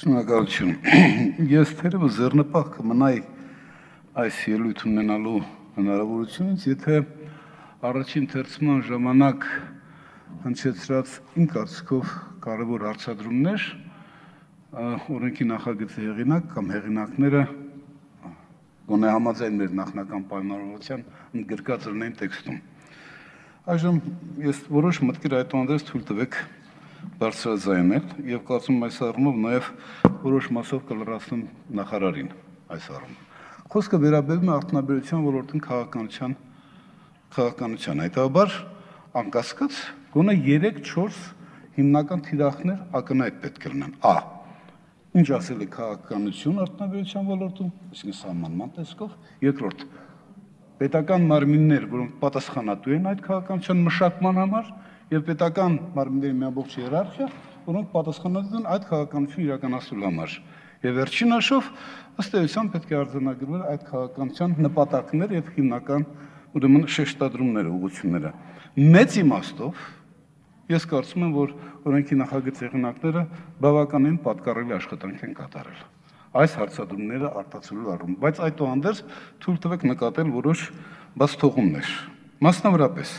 Շնորհակալություն։ Ես թերևս ձեռնպահ կմնայի այս ելույթ ունենալու հնարավորությունից, եթե առաջին թերցման ժամանակ հնչեցրած իմ կարծիքով կարևոր հարցադրումներ օրենքի նախագծի հեղինակ կամ հեղինակները գոնե համաձայն մեր նախնական պայմանավորության ընդգրկած լինեն տեքստում։ Այժմ ես որոշ մտքեր այդուհանդերձ թույլ տվեք բարձրաձայնել եւ կարծում եմ այս առումով նաեւ որոշ մասով կլրացնեմ նախարարին այս առումով։ Խոսքը վերաբերում է արտոնաբերության ոլորտին քաղաքականության, հետաբար անկասկած գոնե 3-4 հիմնական թիրախներ ակնհայտ պետք է լինեն։ Ա. Ինչ ասել է քաղաքականություն արտոնաբերության ոլորտում, այսինքն սահմանման տեսքով, երկրորդ պետական մարմիններ, որոնք պատասխանատու են այդ քաղաքականության մշակման համար, եւ պետական մարմինների մի ամբողջ հիերարխիա, որոնք պատասխանատու են այդ քաղաքականությունը իրականացնելու համար։ Եվ վերջին հաշվով ըստ էության պետք է արձանագրվել այդ քաղաքականության նպատակները եւ հիմնական ուրեմն շեշտադրումները, ուղղությունները։ Մեծ իմաստով ես կարծում եմ, որ օրենքի նախագծի հեղինակները բավականին պատկառելի աշխատանք են կատարել այս հարցադրումները արտացոլելու առումով, բայց այդուհանդերձ թույլ տվեք նկատել որոշ բացթողումներ։ Մասնավորապես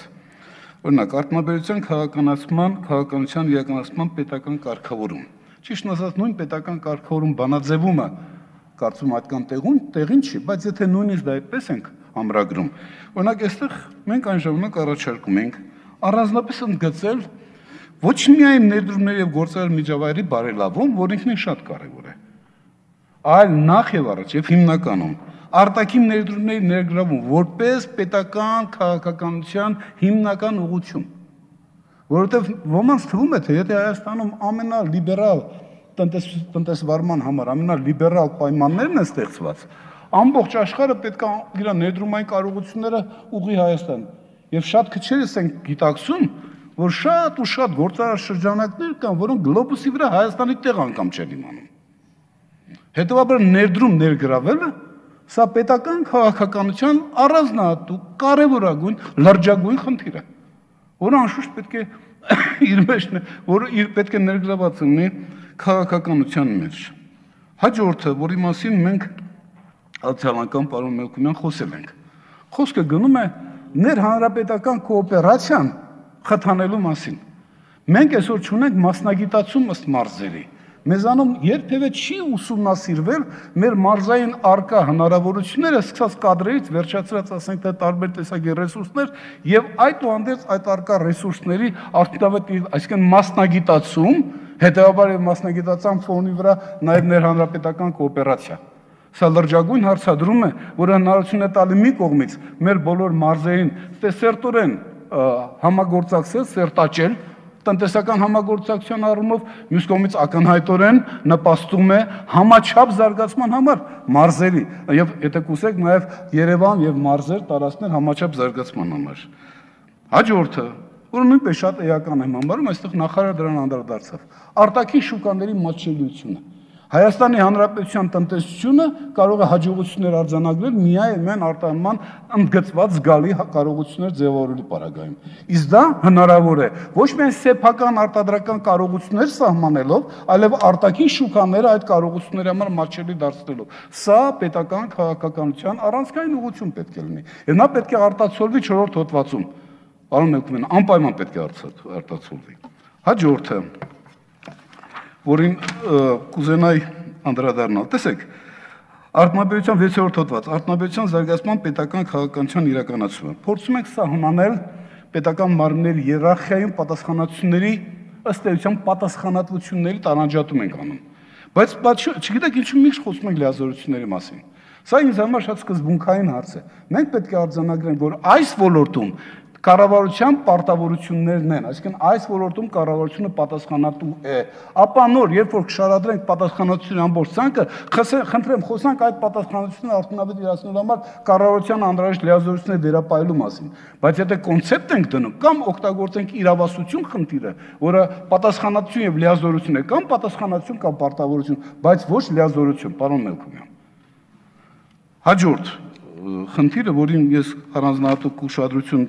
օրինակ արտոնաբերության քաղաքականության իրականացման պետական կարգավորում։ Ճիշտ ասած, նույն պետական կարգավորում բանաձևումը կարծում այդքան տեղին չի, բայց եթե նույնիսկ դա այդպես ենք ամրագրում, օրինակ այստեղ մենք այն ժամանակ առաջարկում ենք առանձնապես ընդգծել ոչ միայն ներդրումների եւ գործարար միջավայրի բարելավում, որ ինքնին շատ կարեւոր է, այլ նախ եւ առաջ եւ հիմնականում արտաքին ներդրումների ներգրավում որպես պետական քաղաքականության հիմնական ուղղություն, որովհետև ոմանց թվում է, թե եթե Հայաստանում ամենալիբերալ տնտեսվարման համար ամենալիբերալ պայմաններն են ստեղծված, ամբողջ աշխարհը պետք է իր ներդրումային կարողությունները ուղղի Հայաստան։ Եվ շատ քչերս են գիտակցում, որ շատ ու շատ գործարար շրջանակներ կան, որոնք գլոբուսի վրա Հայաստանի տեղ անգամ չեն իմանում։ Հետևաբար ներդրում ներգրավելը սա պետական քաղաքականության առանձնահատուկ, կարևորագույն, լրջագույն խնդիր է, որը անշուշտ պետք է իր մեջ, որը պետք է ներգրաված լինի քաղաքականության մեջ։ Հաջորդը, որի մասին մենք անցյալ անգամ պարոն Մելքումյան խոսել ենք, խոսքը գնում է ներհանրապետական կոոպերացիան խթանելու մասին։ Մենք այսօր չունենք մասնագիտացում ըստ մարզերի։ Մեզանում երբևէ չի ուսումնասիրվել մեր մարզային արկա հնարավորությունները, սկսած կադրերից վերջացրած ասենք թե տարբեր տեսակի ռեսուրսներ եւ այդուհանդերձ այդ արկա ռեսուրսների արդյունավետ, այսինքն մասնագիտացում, հետեւաբար եւ մասնագիտացան ֆոնի վրա նաեւ ներհանրապետական կոոպերացիա։ Սա լրջագույն հարցադրում է, որը հնարավորություն է տալի մի կողմից մեր բոլոր մարզերին սերտորեն համագործակցել, սերտաճել տնտեսական համագործակցության առումով, մյուս կողմից ակնհայտորեն նպաստում է համաչափ զարգացման համար մարզերի եւ եթե կուզեք նաեւ Երևան եւ մարզեր տարածքներ համաչափ զարգացման համար։ Հաջորդը, որը նույնպես շատ էական եմ համարում, այստեղ նախարարը դրան անդրադարձավ։ Արտաքին շուկաների մատչելիությունը։ Հայաստանի Հանրապետության տնտեսությունը կարող է հաջողություններ արձանագրել միայն արտահանման ընդգծված զգալի կարողություններ ձևավորելու պարագայում։ Իսկ դա հնարավոր է ոչ միայն սեփական արտադրական կարողություններ սահմանելով, այլև արտաքին շուկաները այդ կարողությունների համար մատչելի դարձնելով։ Սա պետական քաղաքականության առանցքային ուղղություն պետք է լինի։ Եվ նա պետք է արտացոլվի 4-րդ հոդվածում։ Պարոն Մելքումյան, անպայման պետք է արտացոլվի։ Հաջորդը, որին կուզենայի անդրադառնալ։ Տեսեք, արտոնաբերության 6-րդ հոդված, արտոնաբերության զարգացման պետական քաղաքականության իրականացումը։ Փորձում ենք սահմանել պետական մարմինների հիերարխիայում պատասխանատվությունների ըստ էության պատասխանատվությունների տարանջատում ենք անում։ Բայց չգիտեք ինչու միշտ խոսում ենք լիազորությունների մասին։ Սա ինձ համար շատ սկզբունքային հարց է։ Մենք պետք է արձանագրենք, որ այս ոլորտում կառավարության պարտավորություններն են, այսինքն այս ոլորտում կառավարությունը պատասխանատու է։ Ապա նոր, երբ որ կշարադրենք պատասխանատվության ամբողջ ցանկը, խնդրեմ խոսանք այդ պատասխանատվությունը արդյունավետ իրացնելու համար կառավարության անհրաժեշտ լիազորությունների վերապայելու մասին։ Բայց եթե կոնցեպտ ենք դնում կամ օգտագործենք իրավասություն խնդիրը, որը պատասխանատվություն եւ լիազորություն է, կամ պատասխանատվություն կամ պարտավորություն, բայց ոչ լիազորություն, պարոն Մելքումյան։ Հաջորդ խնդիրը, որին ես առանձնահատուկ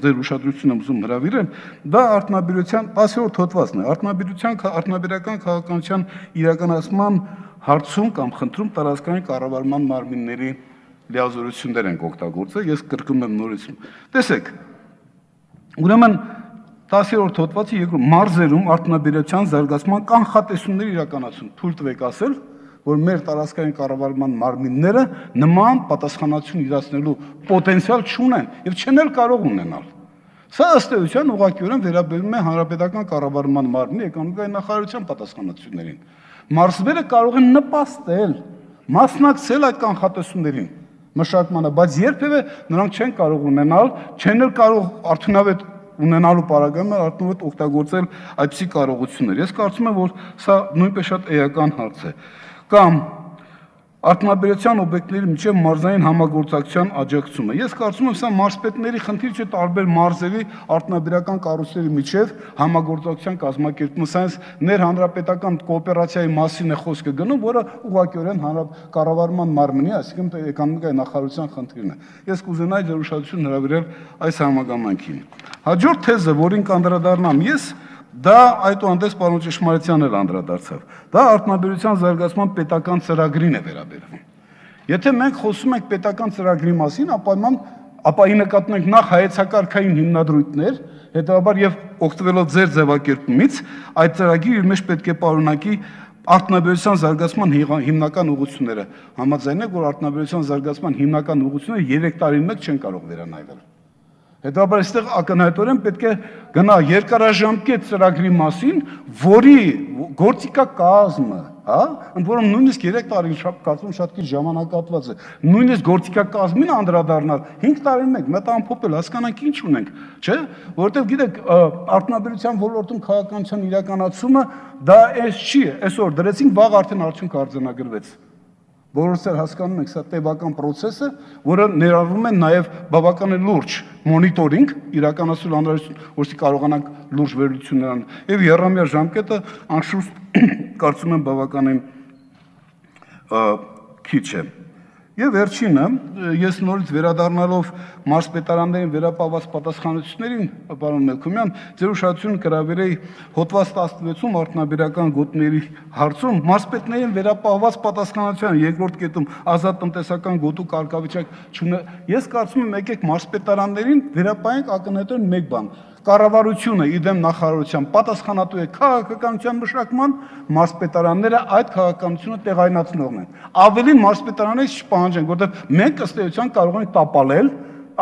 ձեր ուշադրություն եմ ուզում հրավիրել, դա արտոնաբերության 10-րդ հոդվածն է, արտոնաբերական քաղաքականության իրականացման հարցում կամ խնդրում տարածքային կառավարման մարմինների լիազորություններ ենք օգտագործել, ես կրկնում եմ նորից։ Տեսեք, ուրեմն 10-րդ հոդվածի երկրորդ մարզերում արտոնաբերության զարգացման կանխատեսումներ իրականացում, թույլ տվեք ասել, որ մեր տարածքային կառավարման մարմինները նման պատասխանատվություն իրացնելու պոտենցիալ չունեն եւ չեն էլ կարող ունենալ։ Սա ըստ էության ուղղակիորեն վերաբերում է հանրապետական կառավարման մարմնի էկոնոմիկայի նախարարության պատասխանատվություններին։ Մարզերը կարող են նպաստել, մասնակցել այդ կանխատեսումներին մշակմանը, բայց երբևէ նրանք չեն կարող ունենալ, չեն էլ կարող արդյունավետ ունենալու պարագայում արդյունավետ օգտագործել այդպիսի կարողություններ։ Ես կարծում եմ, որ սա նույնպես շատ էական հարց է։ Կամ արտոնաբերության օբյեկտների միջև մարզային համագործակցության աջակցումը։ Ես կարծում եմ, սա մարզպետների խնդիր չէ տարբեր մարզերի արտոնաբերական կառույցների միջև համագործակցության կազմակերպումը, սայնս ներհանրապետական կոոպերացիայի մասին է խոսքը գնում, որը ուղղակիորեն կառավարման մարմնի, այսինքն էկոնոմիկայի նախարարության խնդիրն է։ Ես կուզենայի ձեր ուշադրություն հրավիրել այս համագամանքին։ Հաջորդ թեզը, որին կանդրադառնամ ես, դա այդուհանդերձ պարոն Ճշմարիցյանն էլ անդրադարձավ։ Դա արտոնաբերության զարգացման պետական ծրագրին է վերաբերվում։ Եթե մենք խոսում ենք պետական ծրագրի մասին, ապա ի նկատի ունենք նախ հայեցակարգային հիմնադրույթներ, հետևաբար եւ օգտվելով ձեր ձևակերպումից, այդ ծրագիրը իր մեջ պետք է պարունակի արտոնաբերության զարգացման հիմնական ուղղությունները։ Համաձայն եք, որ արտոնաբերության զարգացման հիմնական ուղղությունները 3 տարին մեկ չեն կարող վերանայվել։ Հետաբար այստեղ ակնհայտորեն պետք է գնա երկարաժամկետ ծրագրի մասին, որի գործիքակազմը, ընդ որում նույնիսկ 3 տարին կարծում շատ քիչ ժամանակահատված է, նույնիսկ գործիքակազմին անդրադառնալ 5 տարին մեկ մտամփոփել, հասկանանք ինչ ունենք, չէ՞, որովհետև գիտեք, արտոնաբերության ոլորտում քաղաքականության իրականացումը դա էս չի, այսօր դրեցինք, վաղ արդեն արդյունք արձանագրվեց։ Բոլորս էլ հասկանում ենք, սա տևական process է, որը ներառվում է նաև բավական լուրջ մոնիտորինգ, իրականացնել անհրաժեշտ, որպեսզի կարողանանք լուրջ վերլուծություններ անել։ Եվ եռամյա ժամկետը անշուշտ կարծում եմ բավականին քիչ է։ Եվ վերջինը, ես նորից վերադառնալով մարզպետարաններին վերապահված պատասխանատվություններին, պարոն Մելքումյան, ձեր ուշադրությունը կհրավիրեի հոդված 16-ում արտոնաբերական գոտիների հարցում մարզպետներին վերապահված պատասխանատվության երկրորդ կետում ազատ տնտեսական գոտու կարգավիճակ չունի։ Ես կարծում եմ, եկեք մարզպետարաններին վերապահենք ակնհայտորեն մեկ բան. կառավարությունը իդեմ նախարարության պատասխանատու է քաղաքականության մշակման, մարզպետարանները այդ քաղաքականությունը տեղայնացնողն են։ Ավելին մարզպետարաններից չպահանջենք, որովհետև մենք ըստ էության կարող ենք տապալել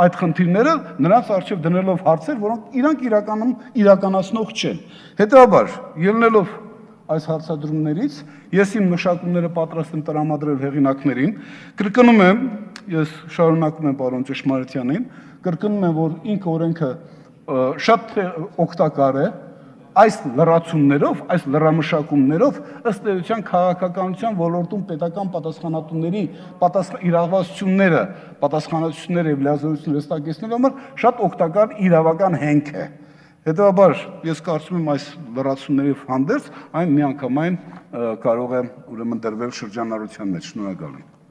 այդ խնդիրները նրանց առջև դնելով հարցեր, որոնք իրանք իրականում իրականացնող չեն։ Հետևաբար, ելնելով այս հարցադրումներից, ես իմ մշակումները պատրաստ եմ տրամադրել հեղինակներին, կրկնում եմ, ես շարունակում եմ պարոն Ճշմարիցյանին, կրկնում եմ, որ ինքը օրենքը շատ օգտակար է այս լրացումներով, այս լրամշակումներով ըստ էության քաղաքականության ոլորտում պետական պատասխանատուների պատասխանատվությունները եւ լիազորությունները հստակեցնելու համար շատ օգտակար իրավական հենք է։ Հետևաբար ես կարծում եմ այս լրացումների հանդերձ այն միանգամայն կարող է ուրեմն դրվել շրջանառության մեջ։ Շնորհակալ եմ։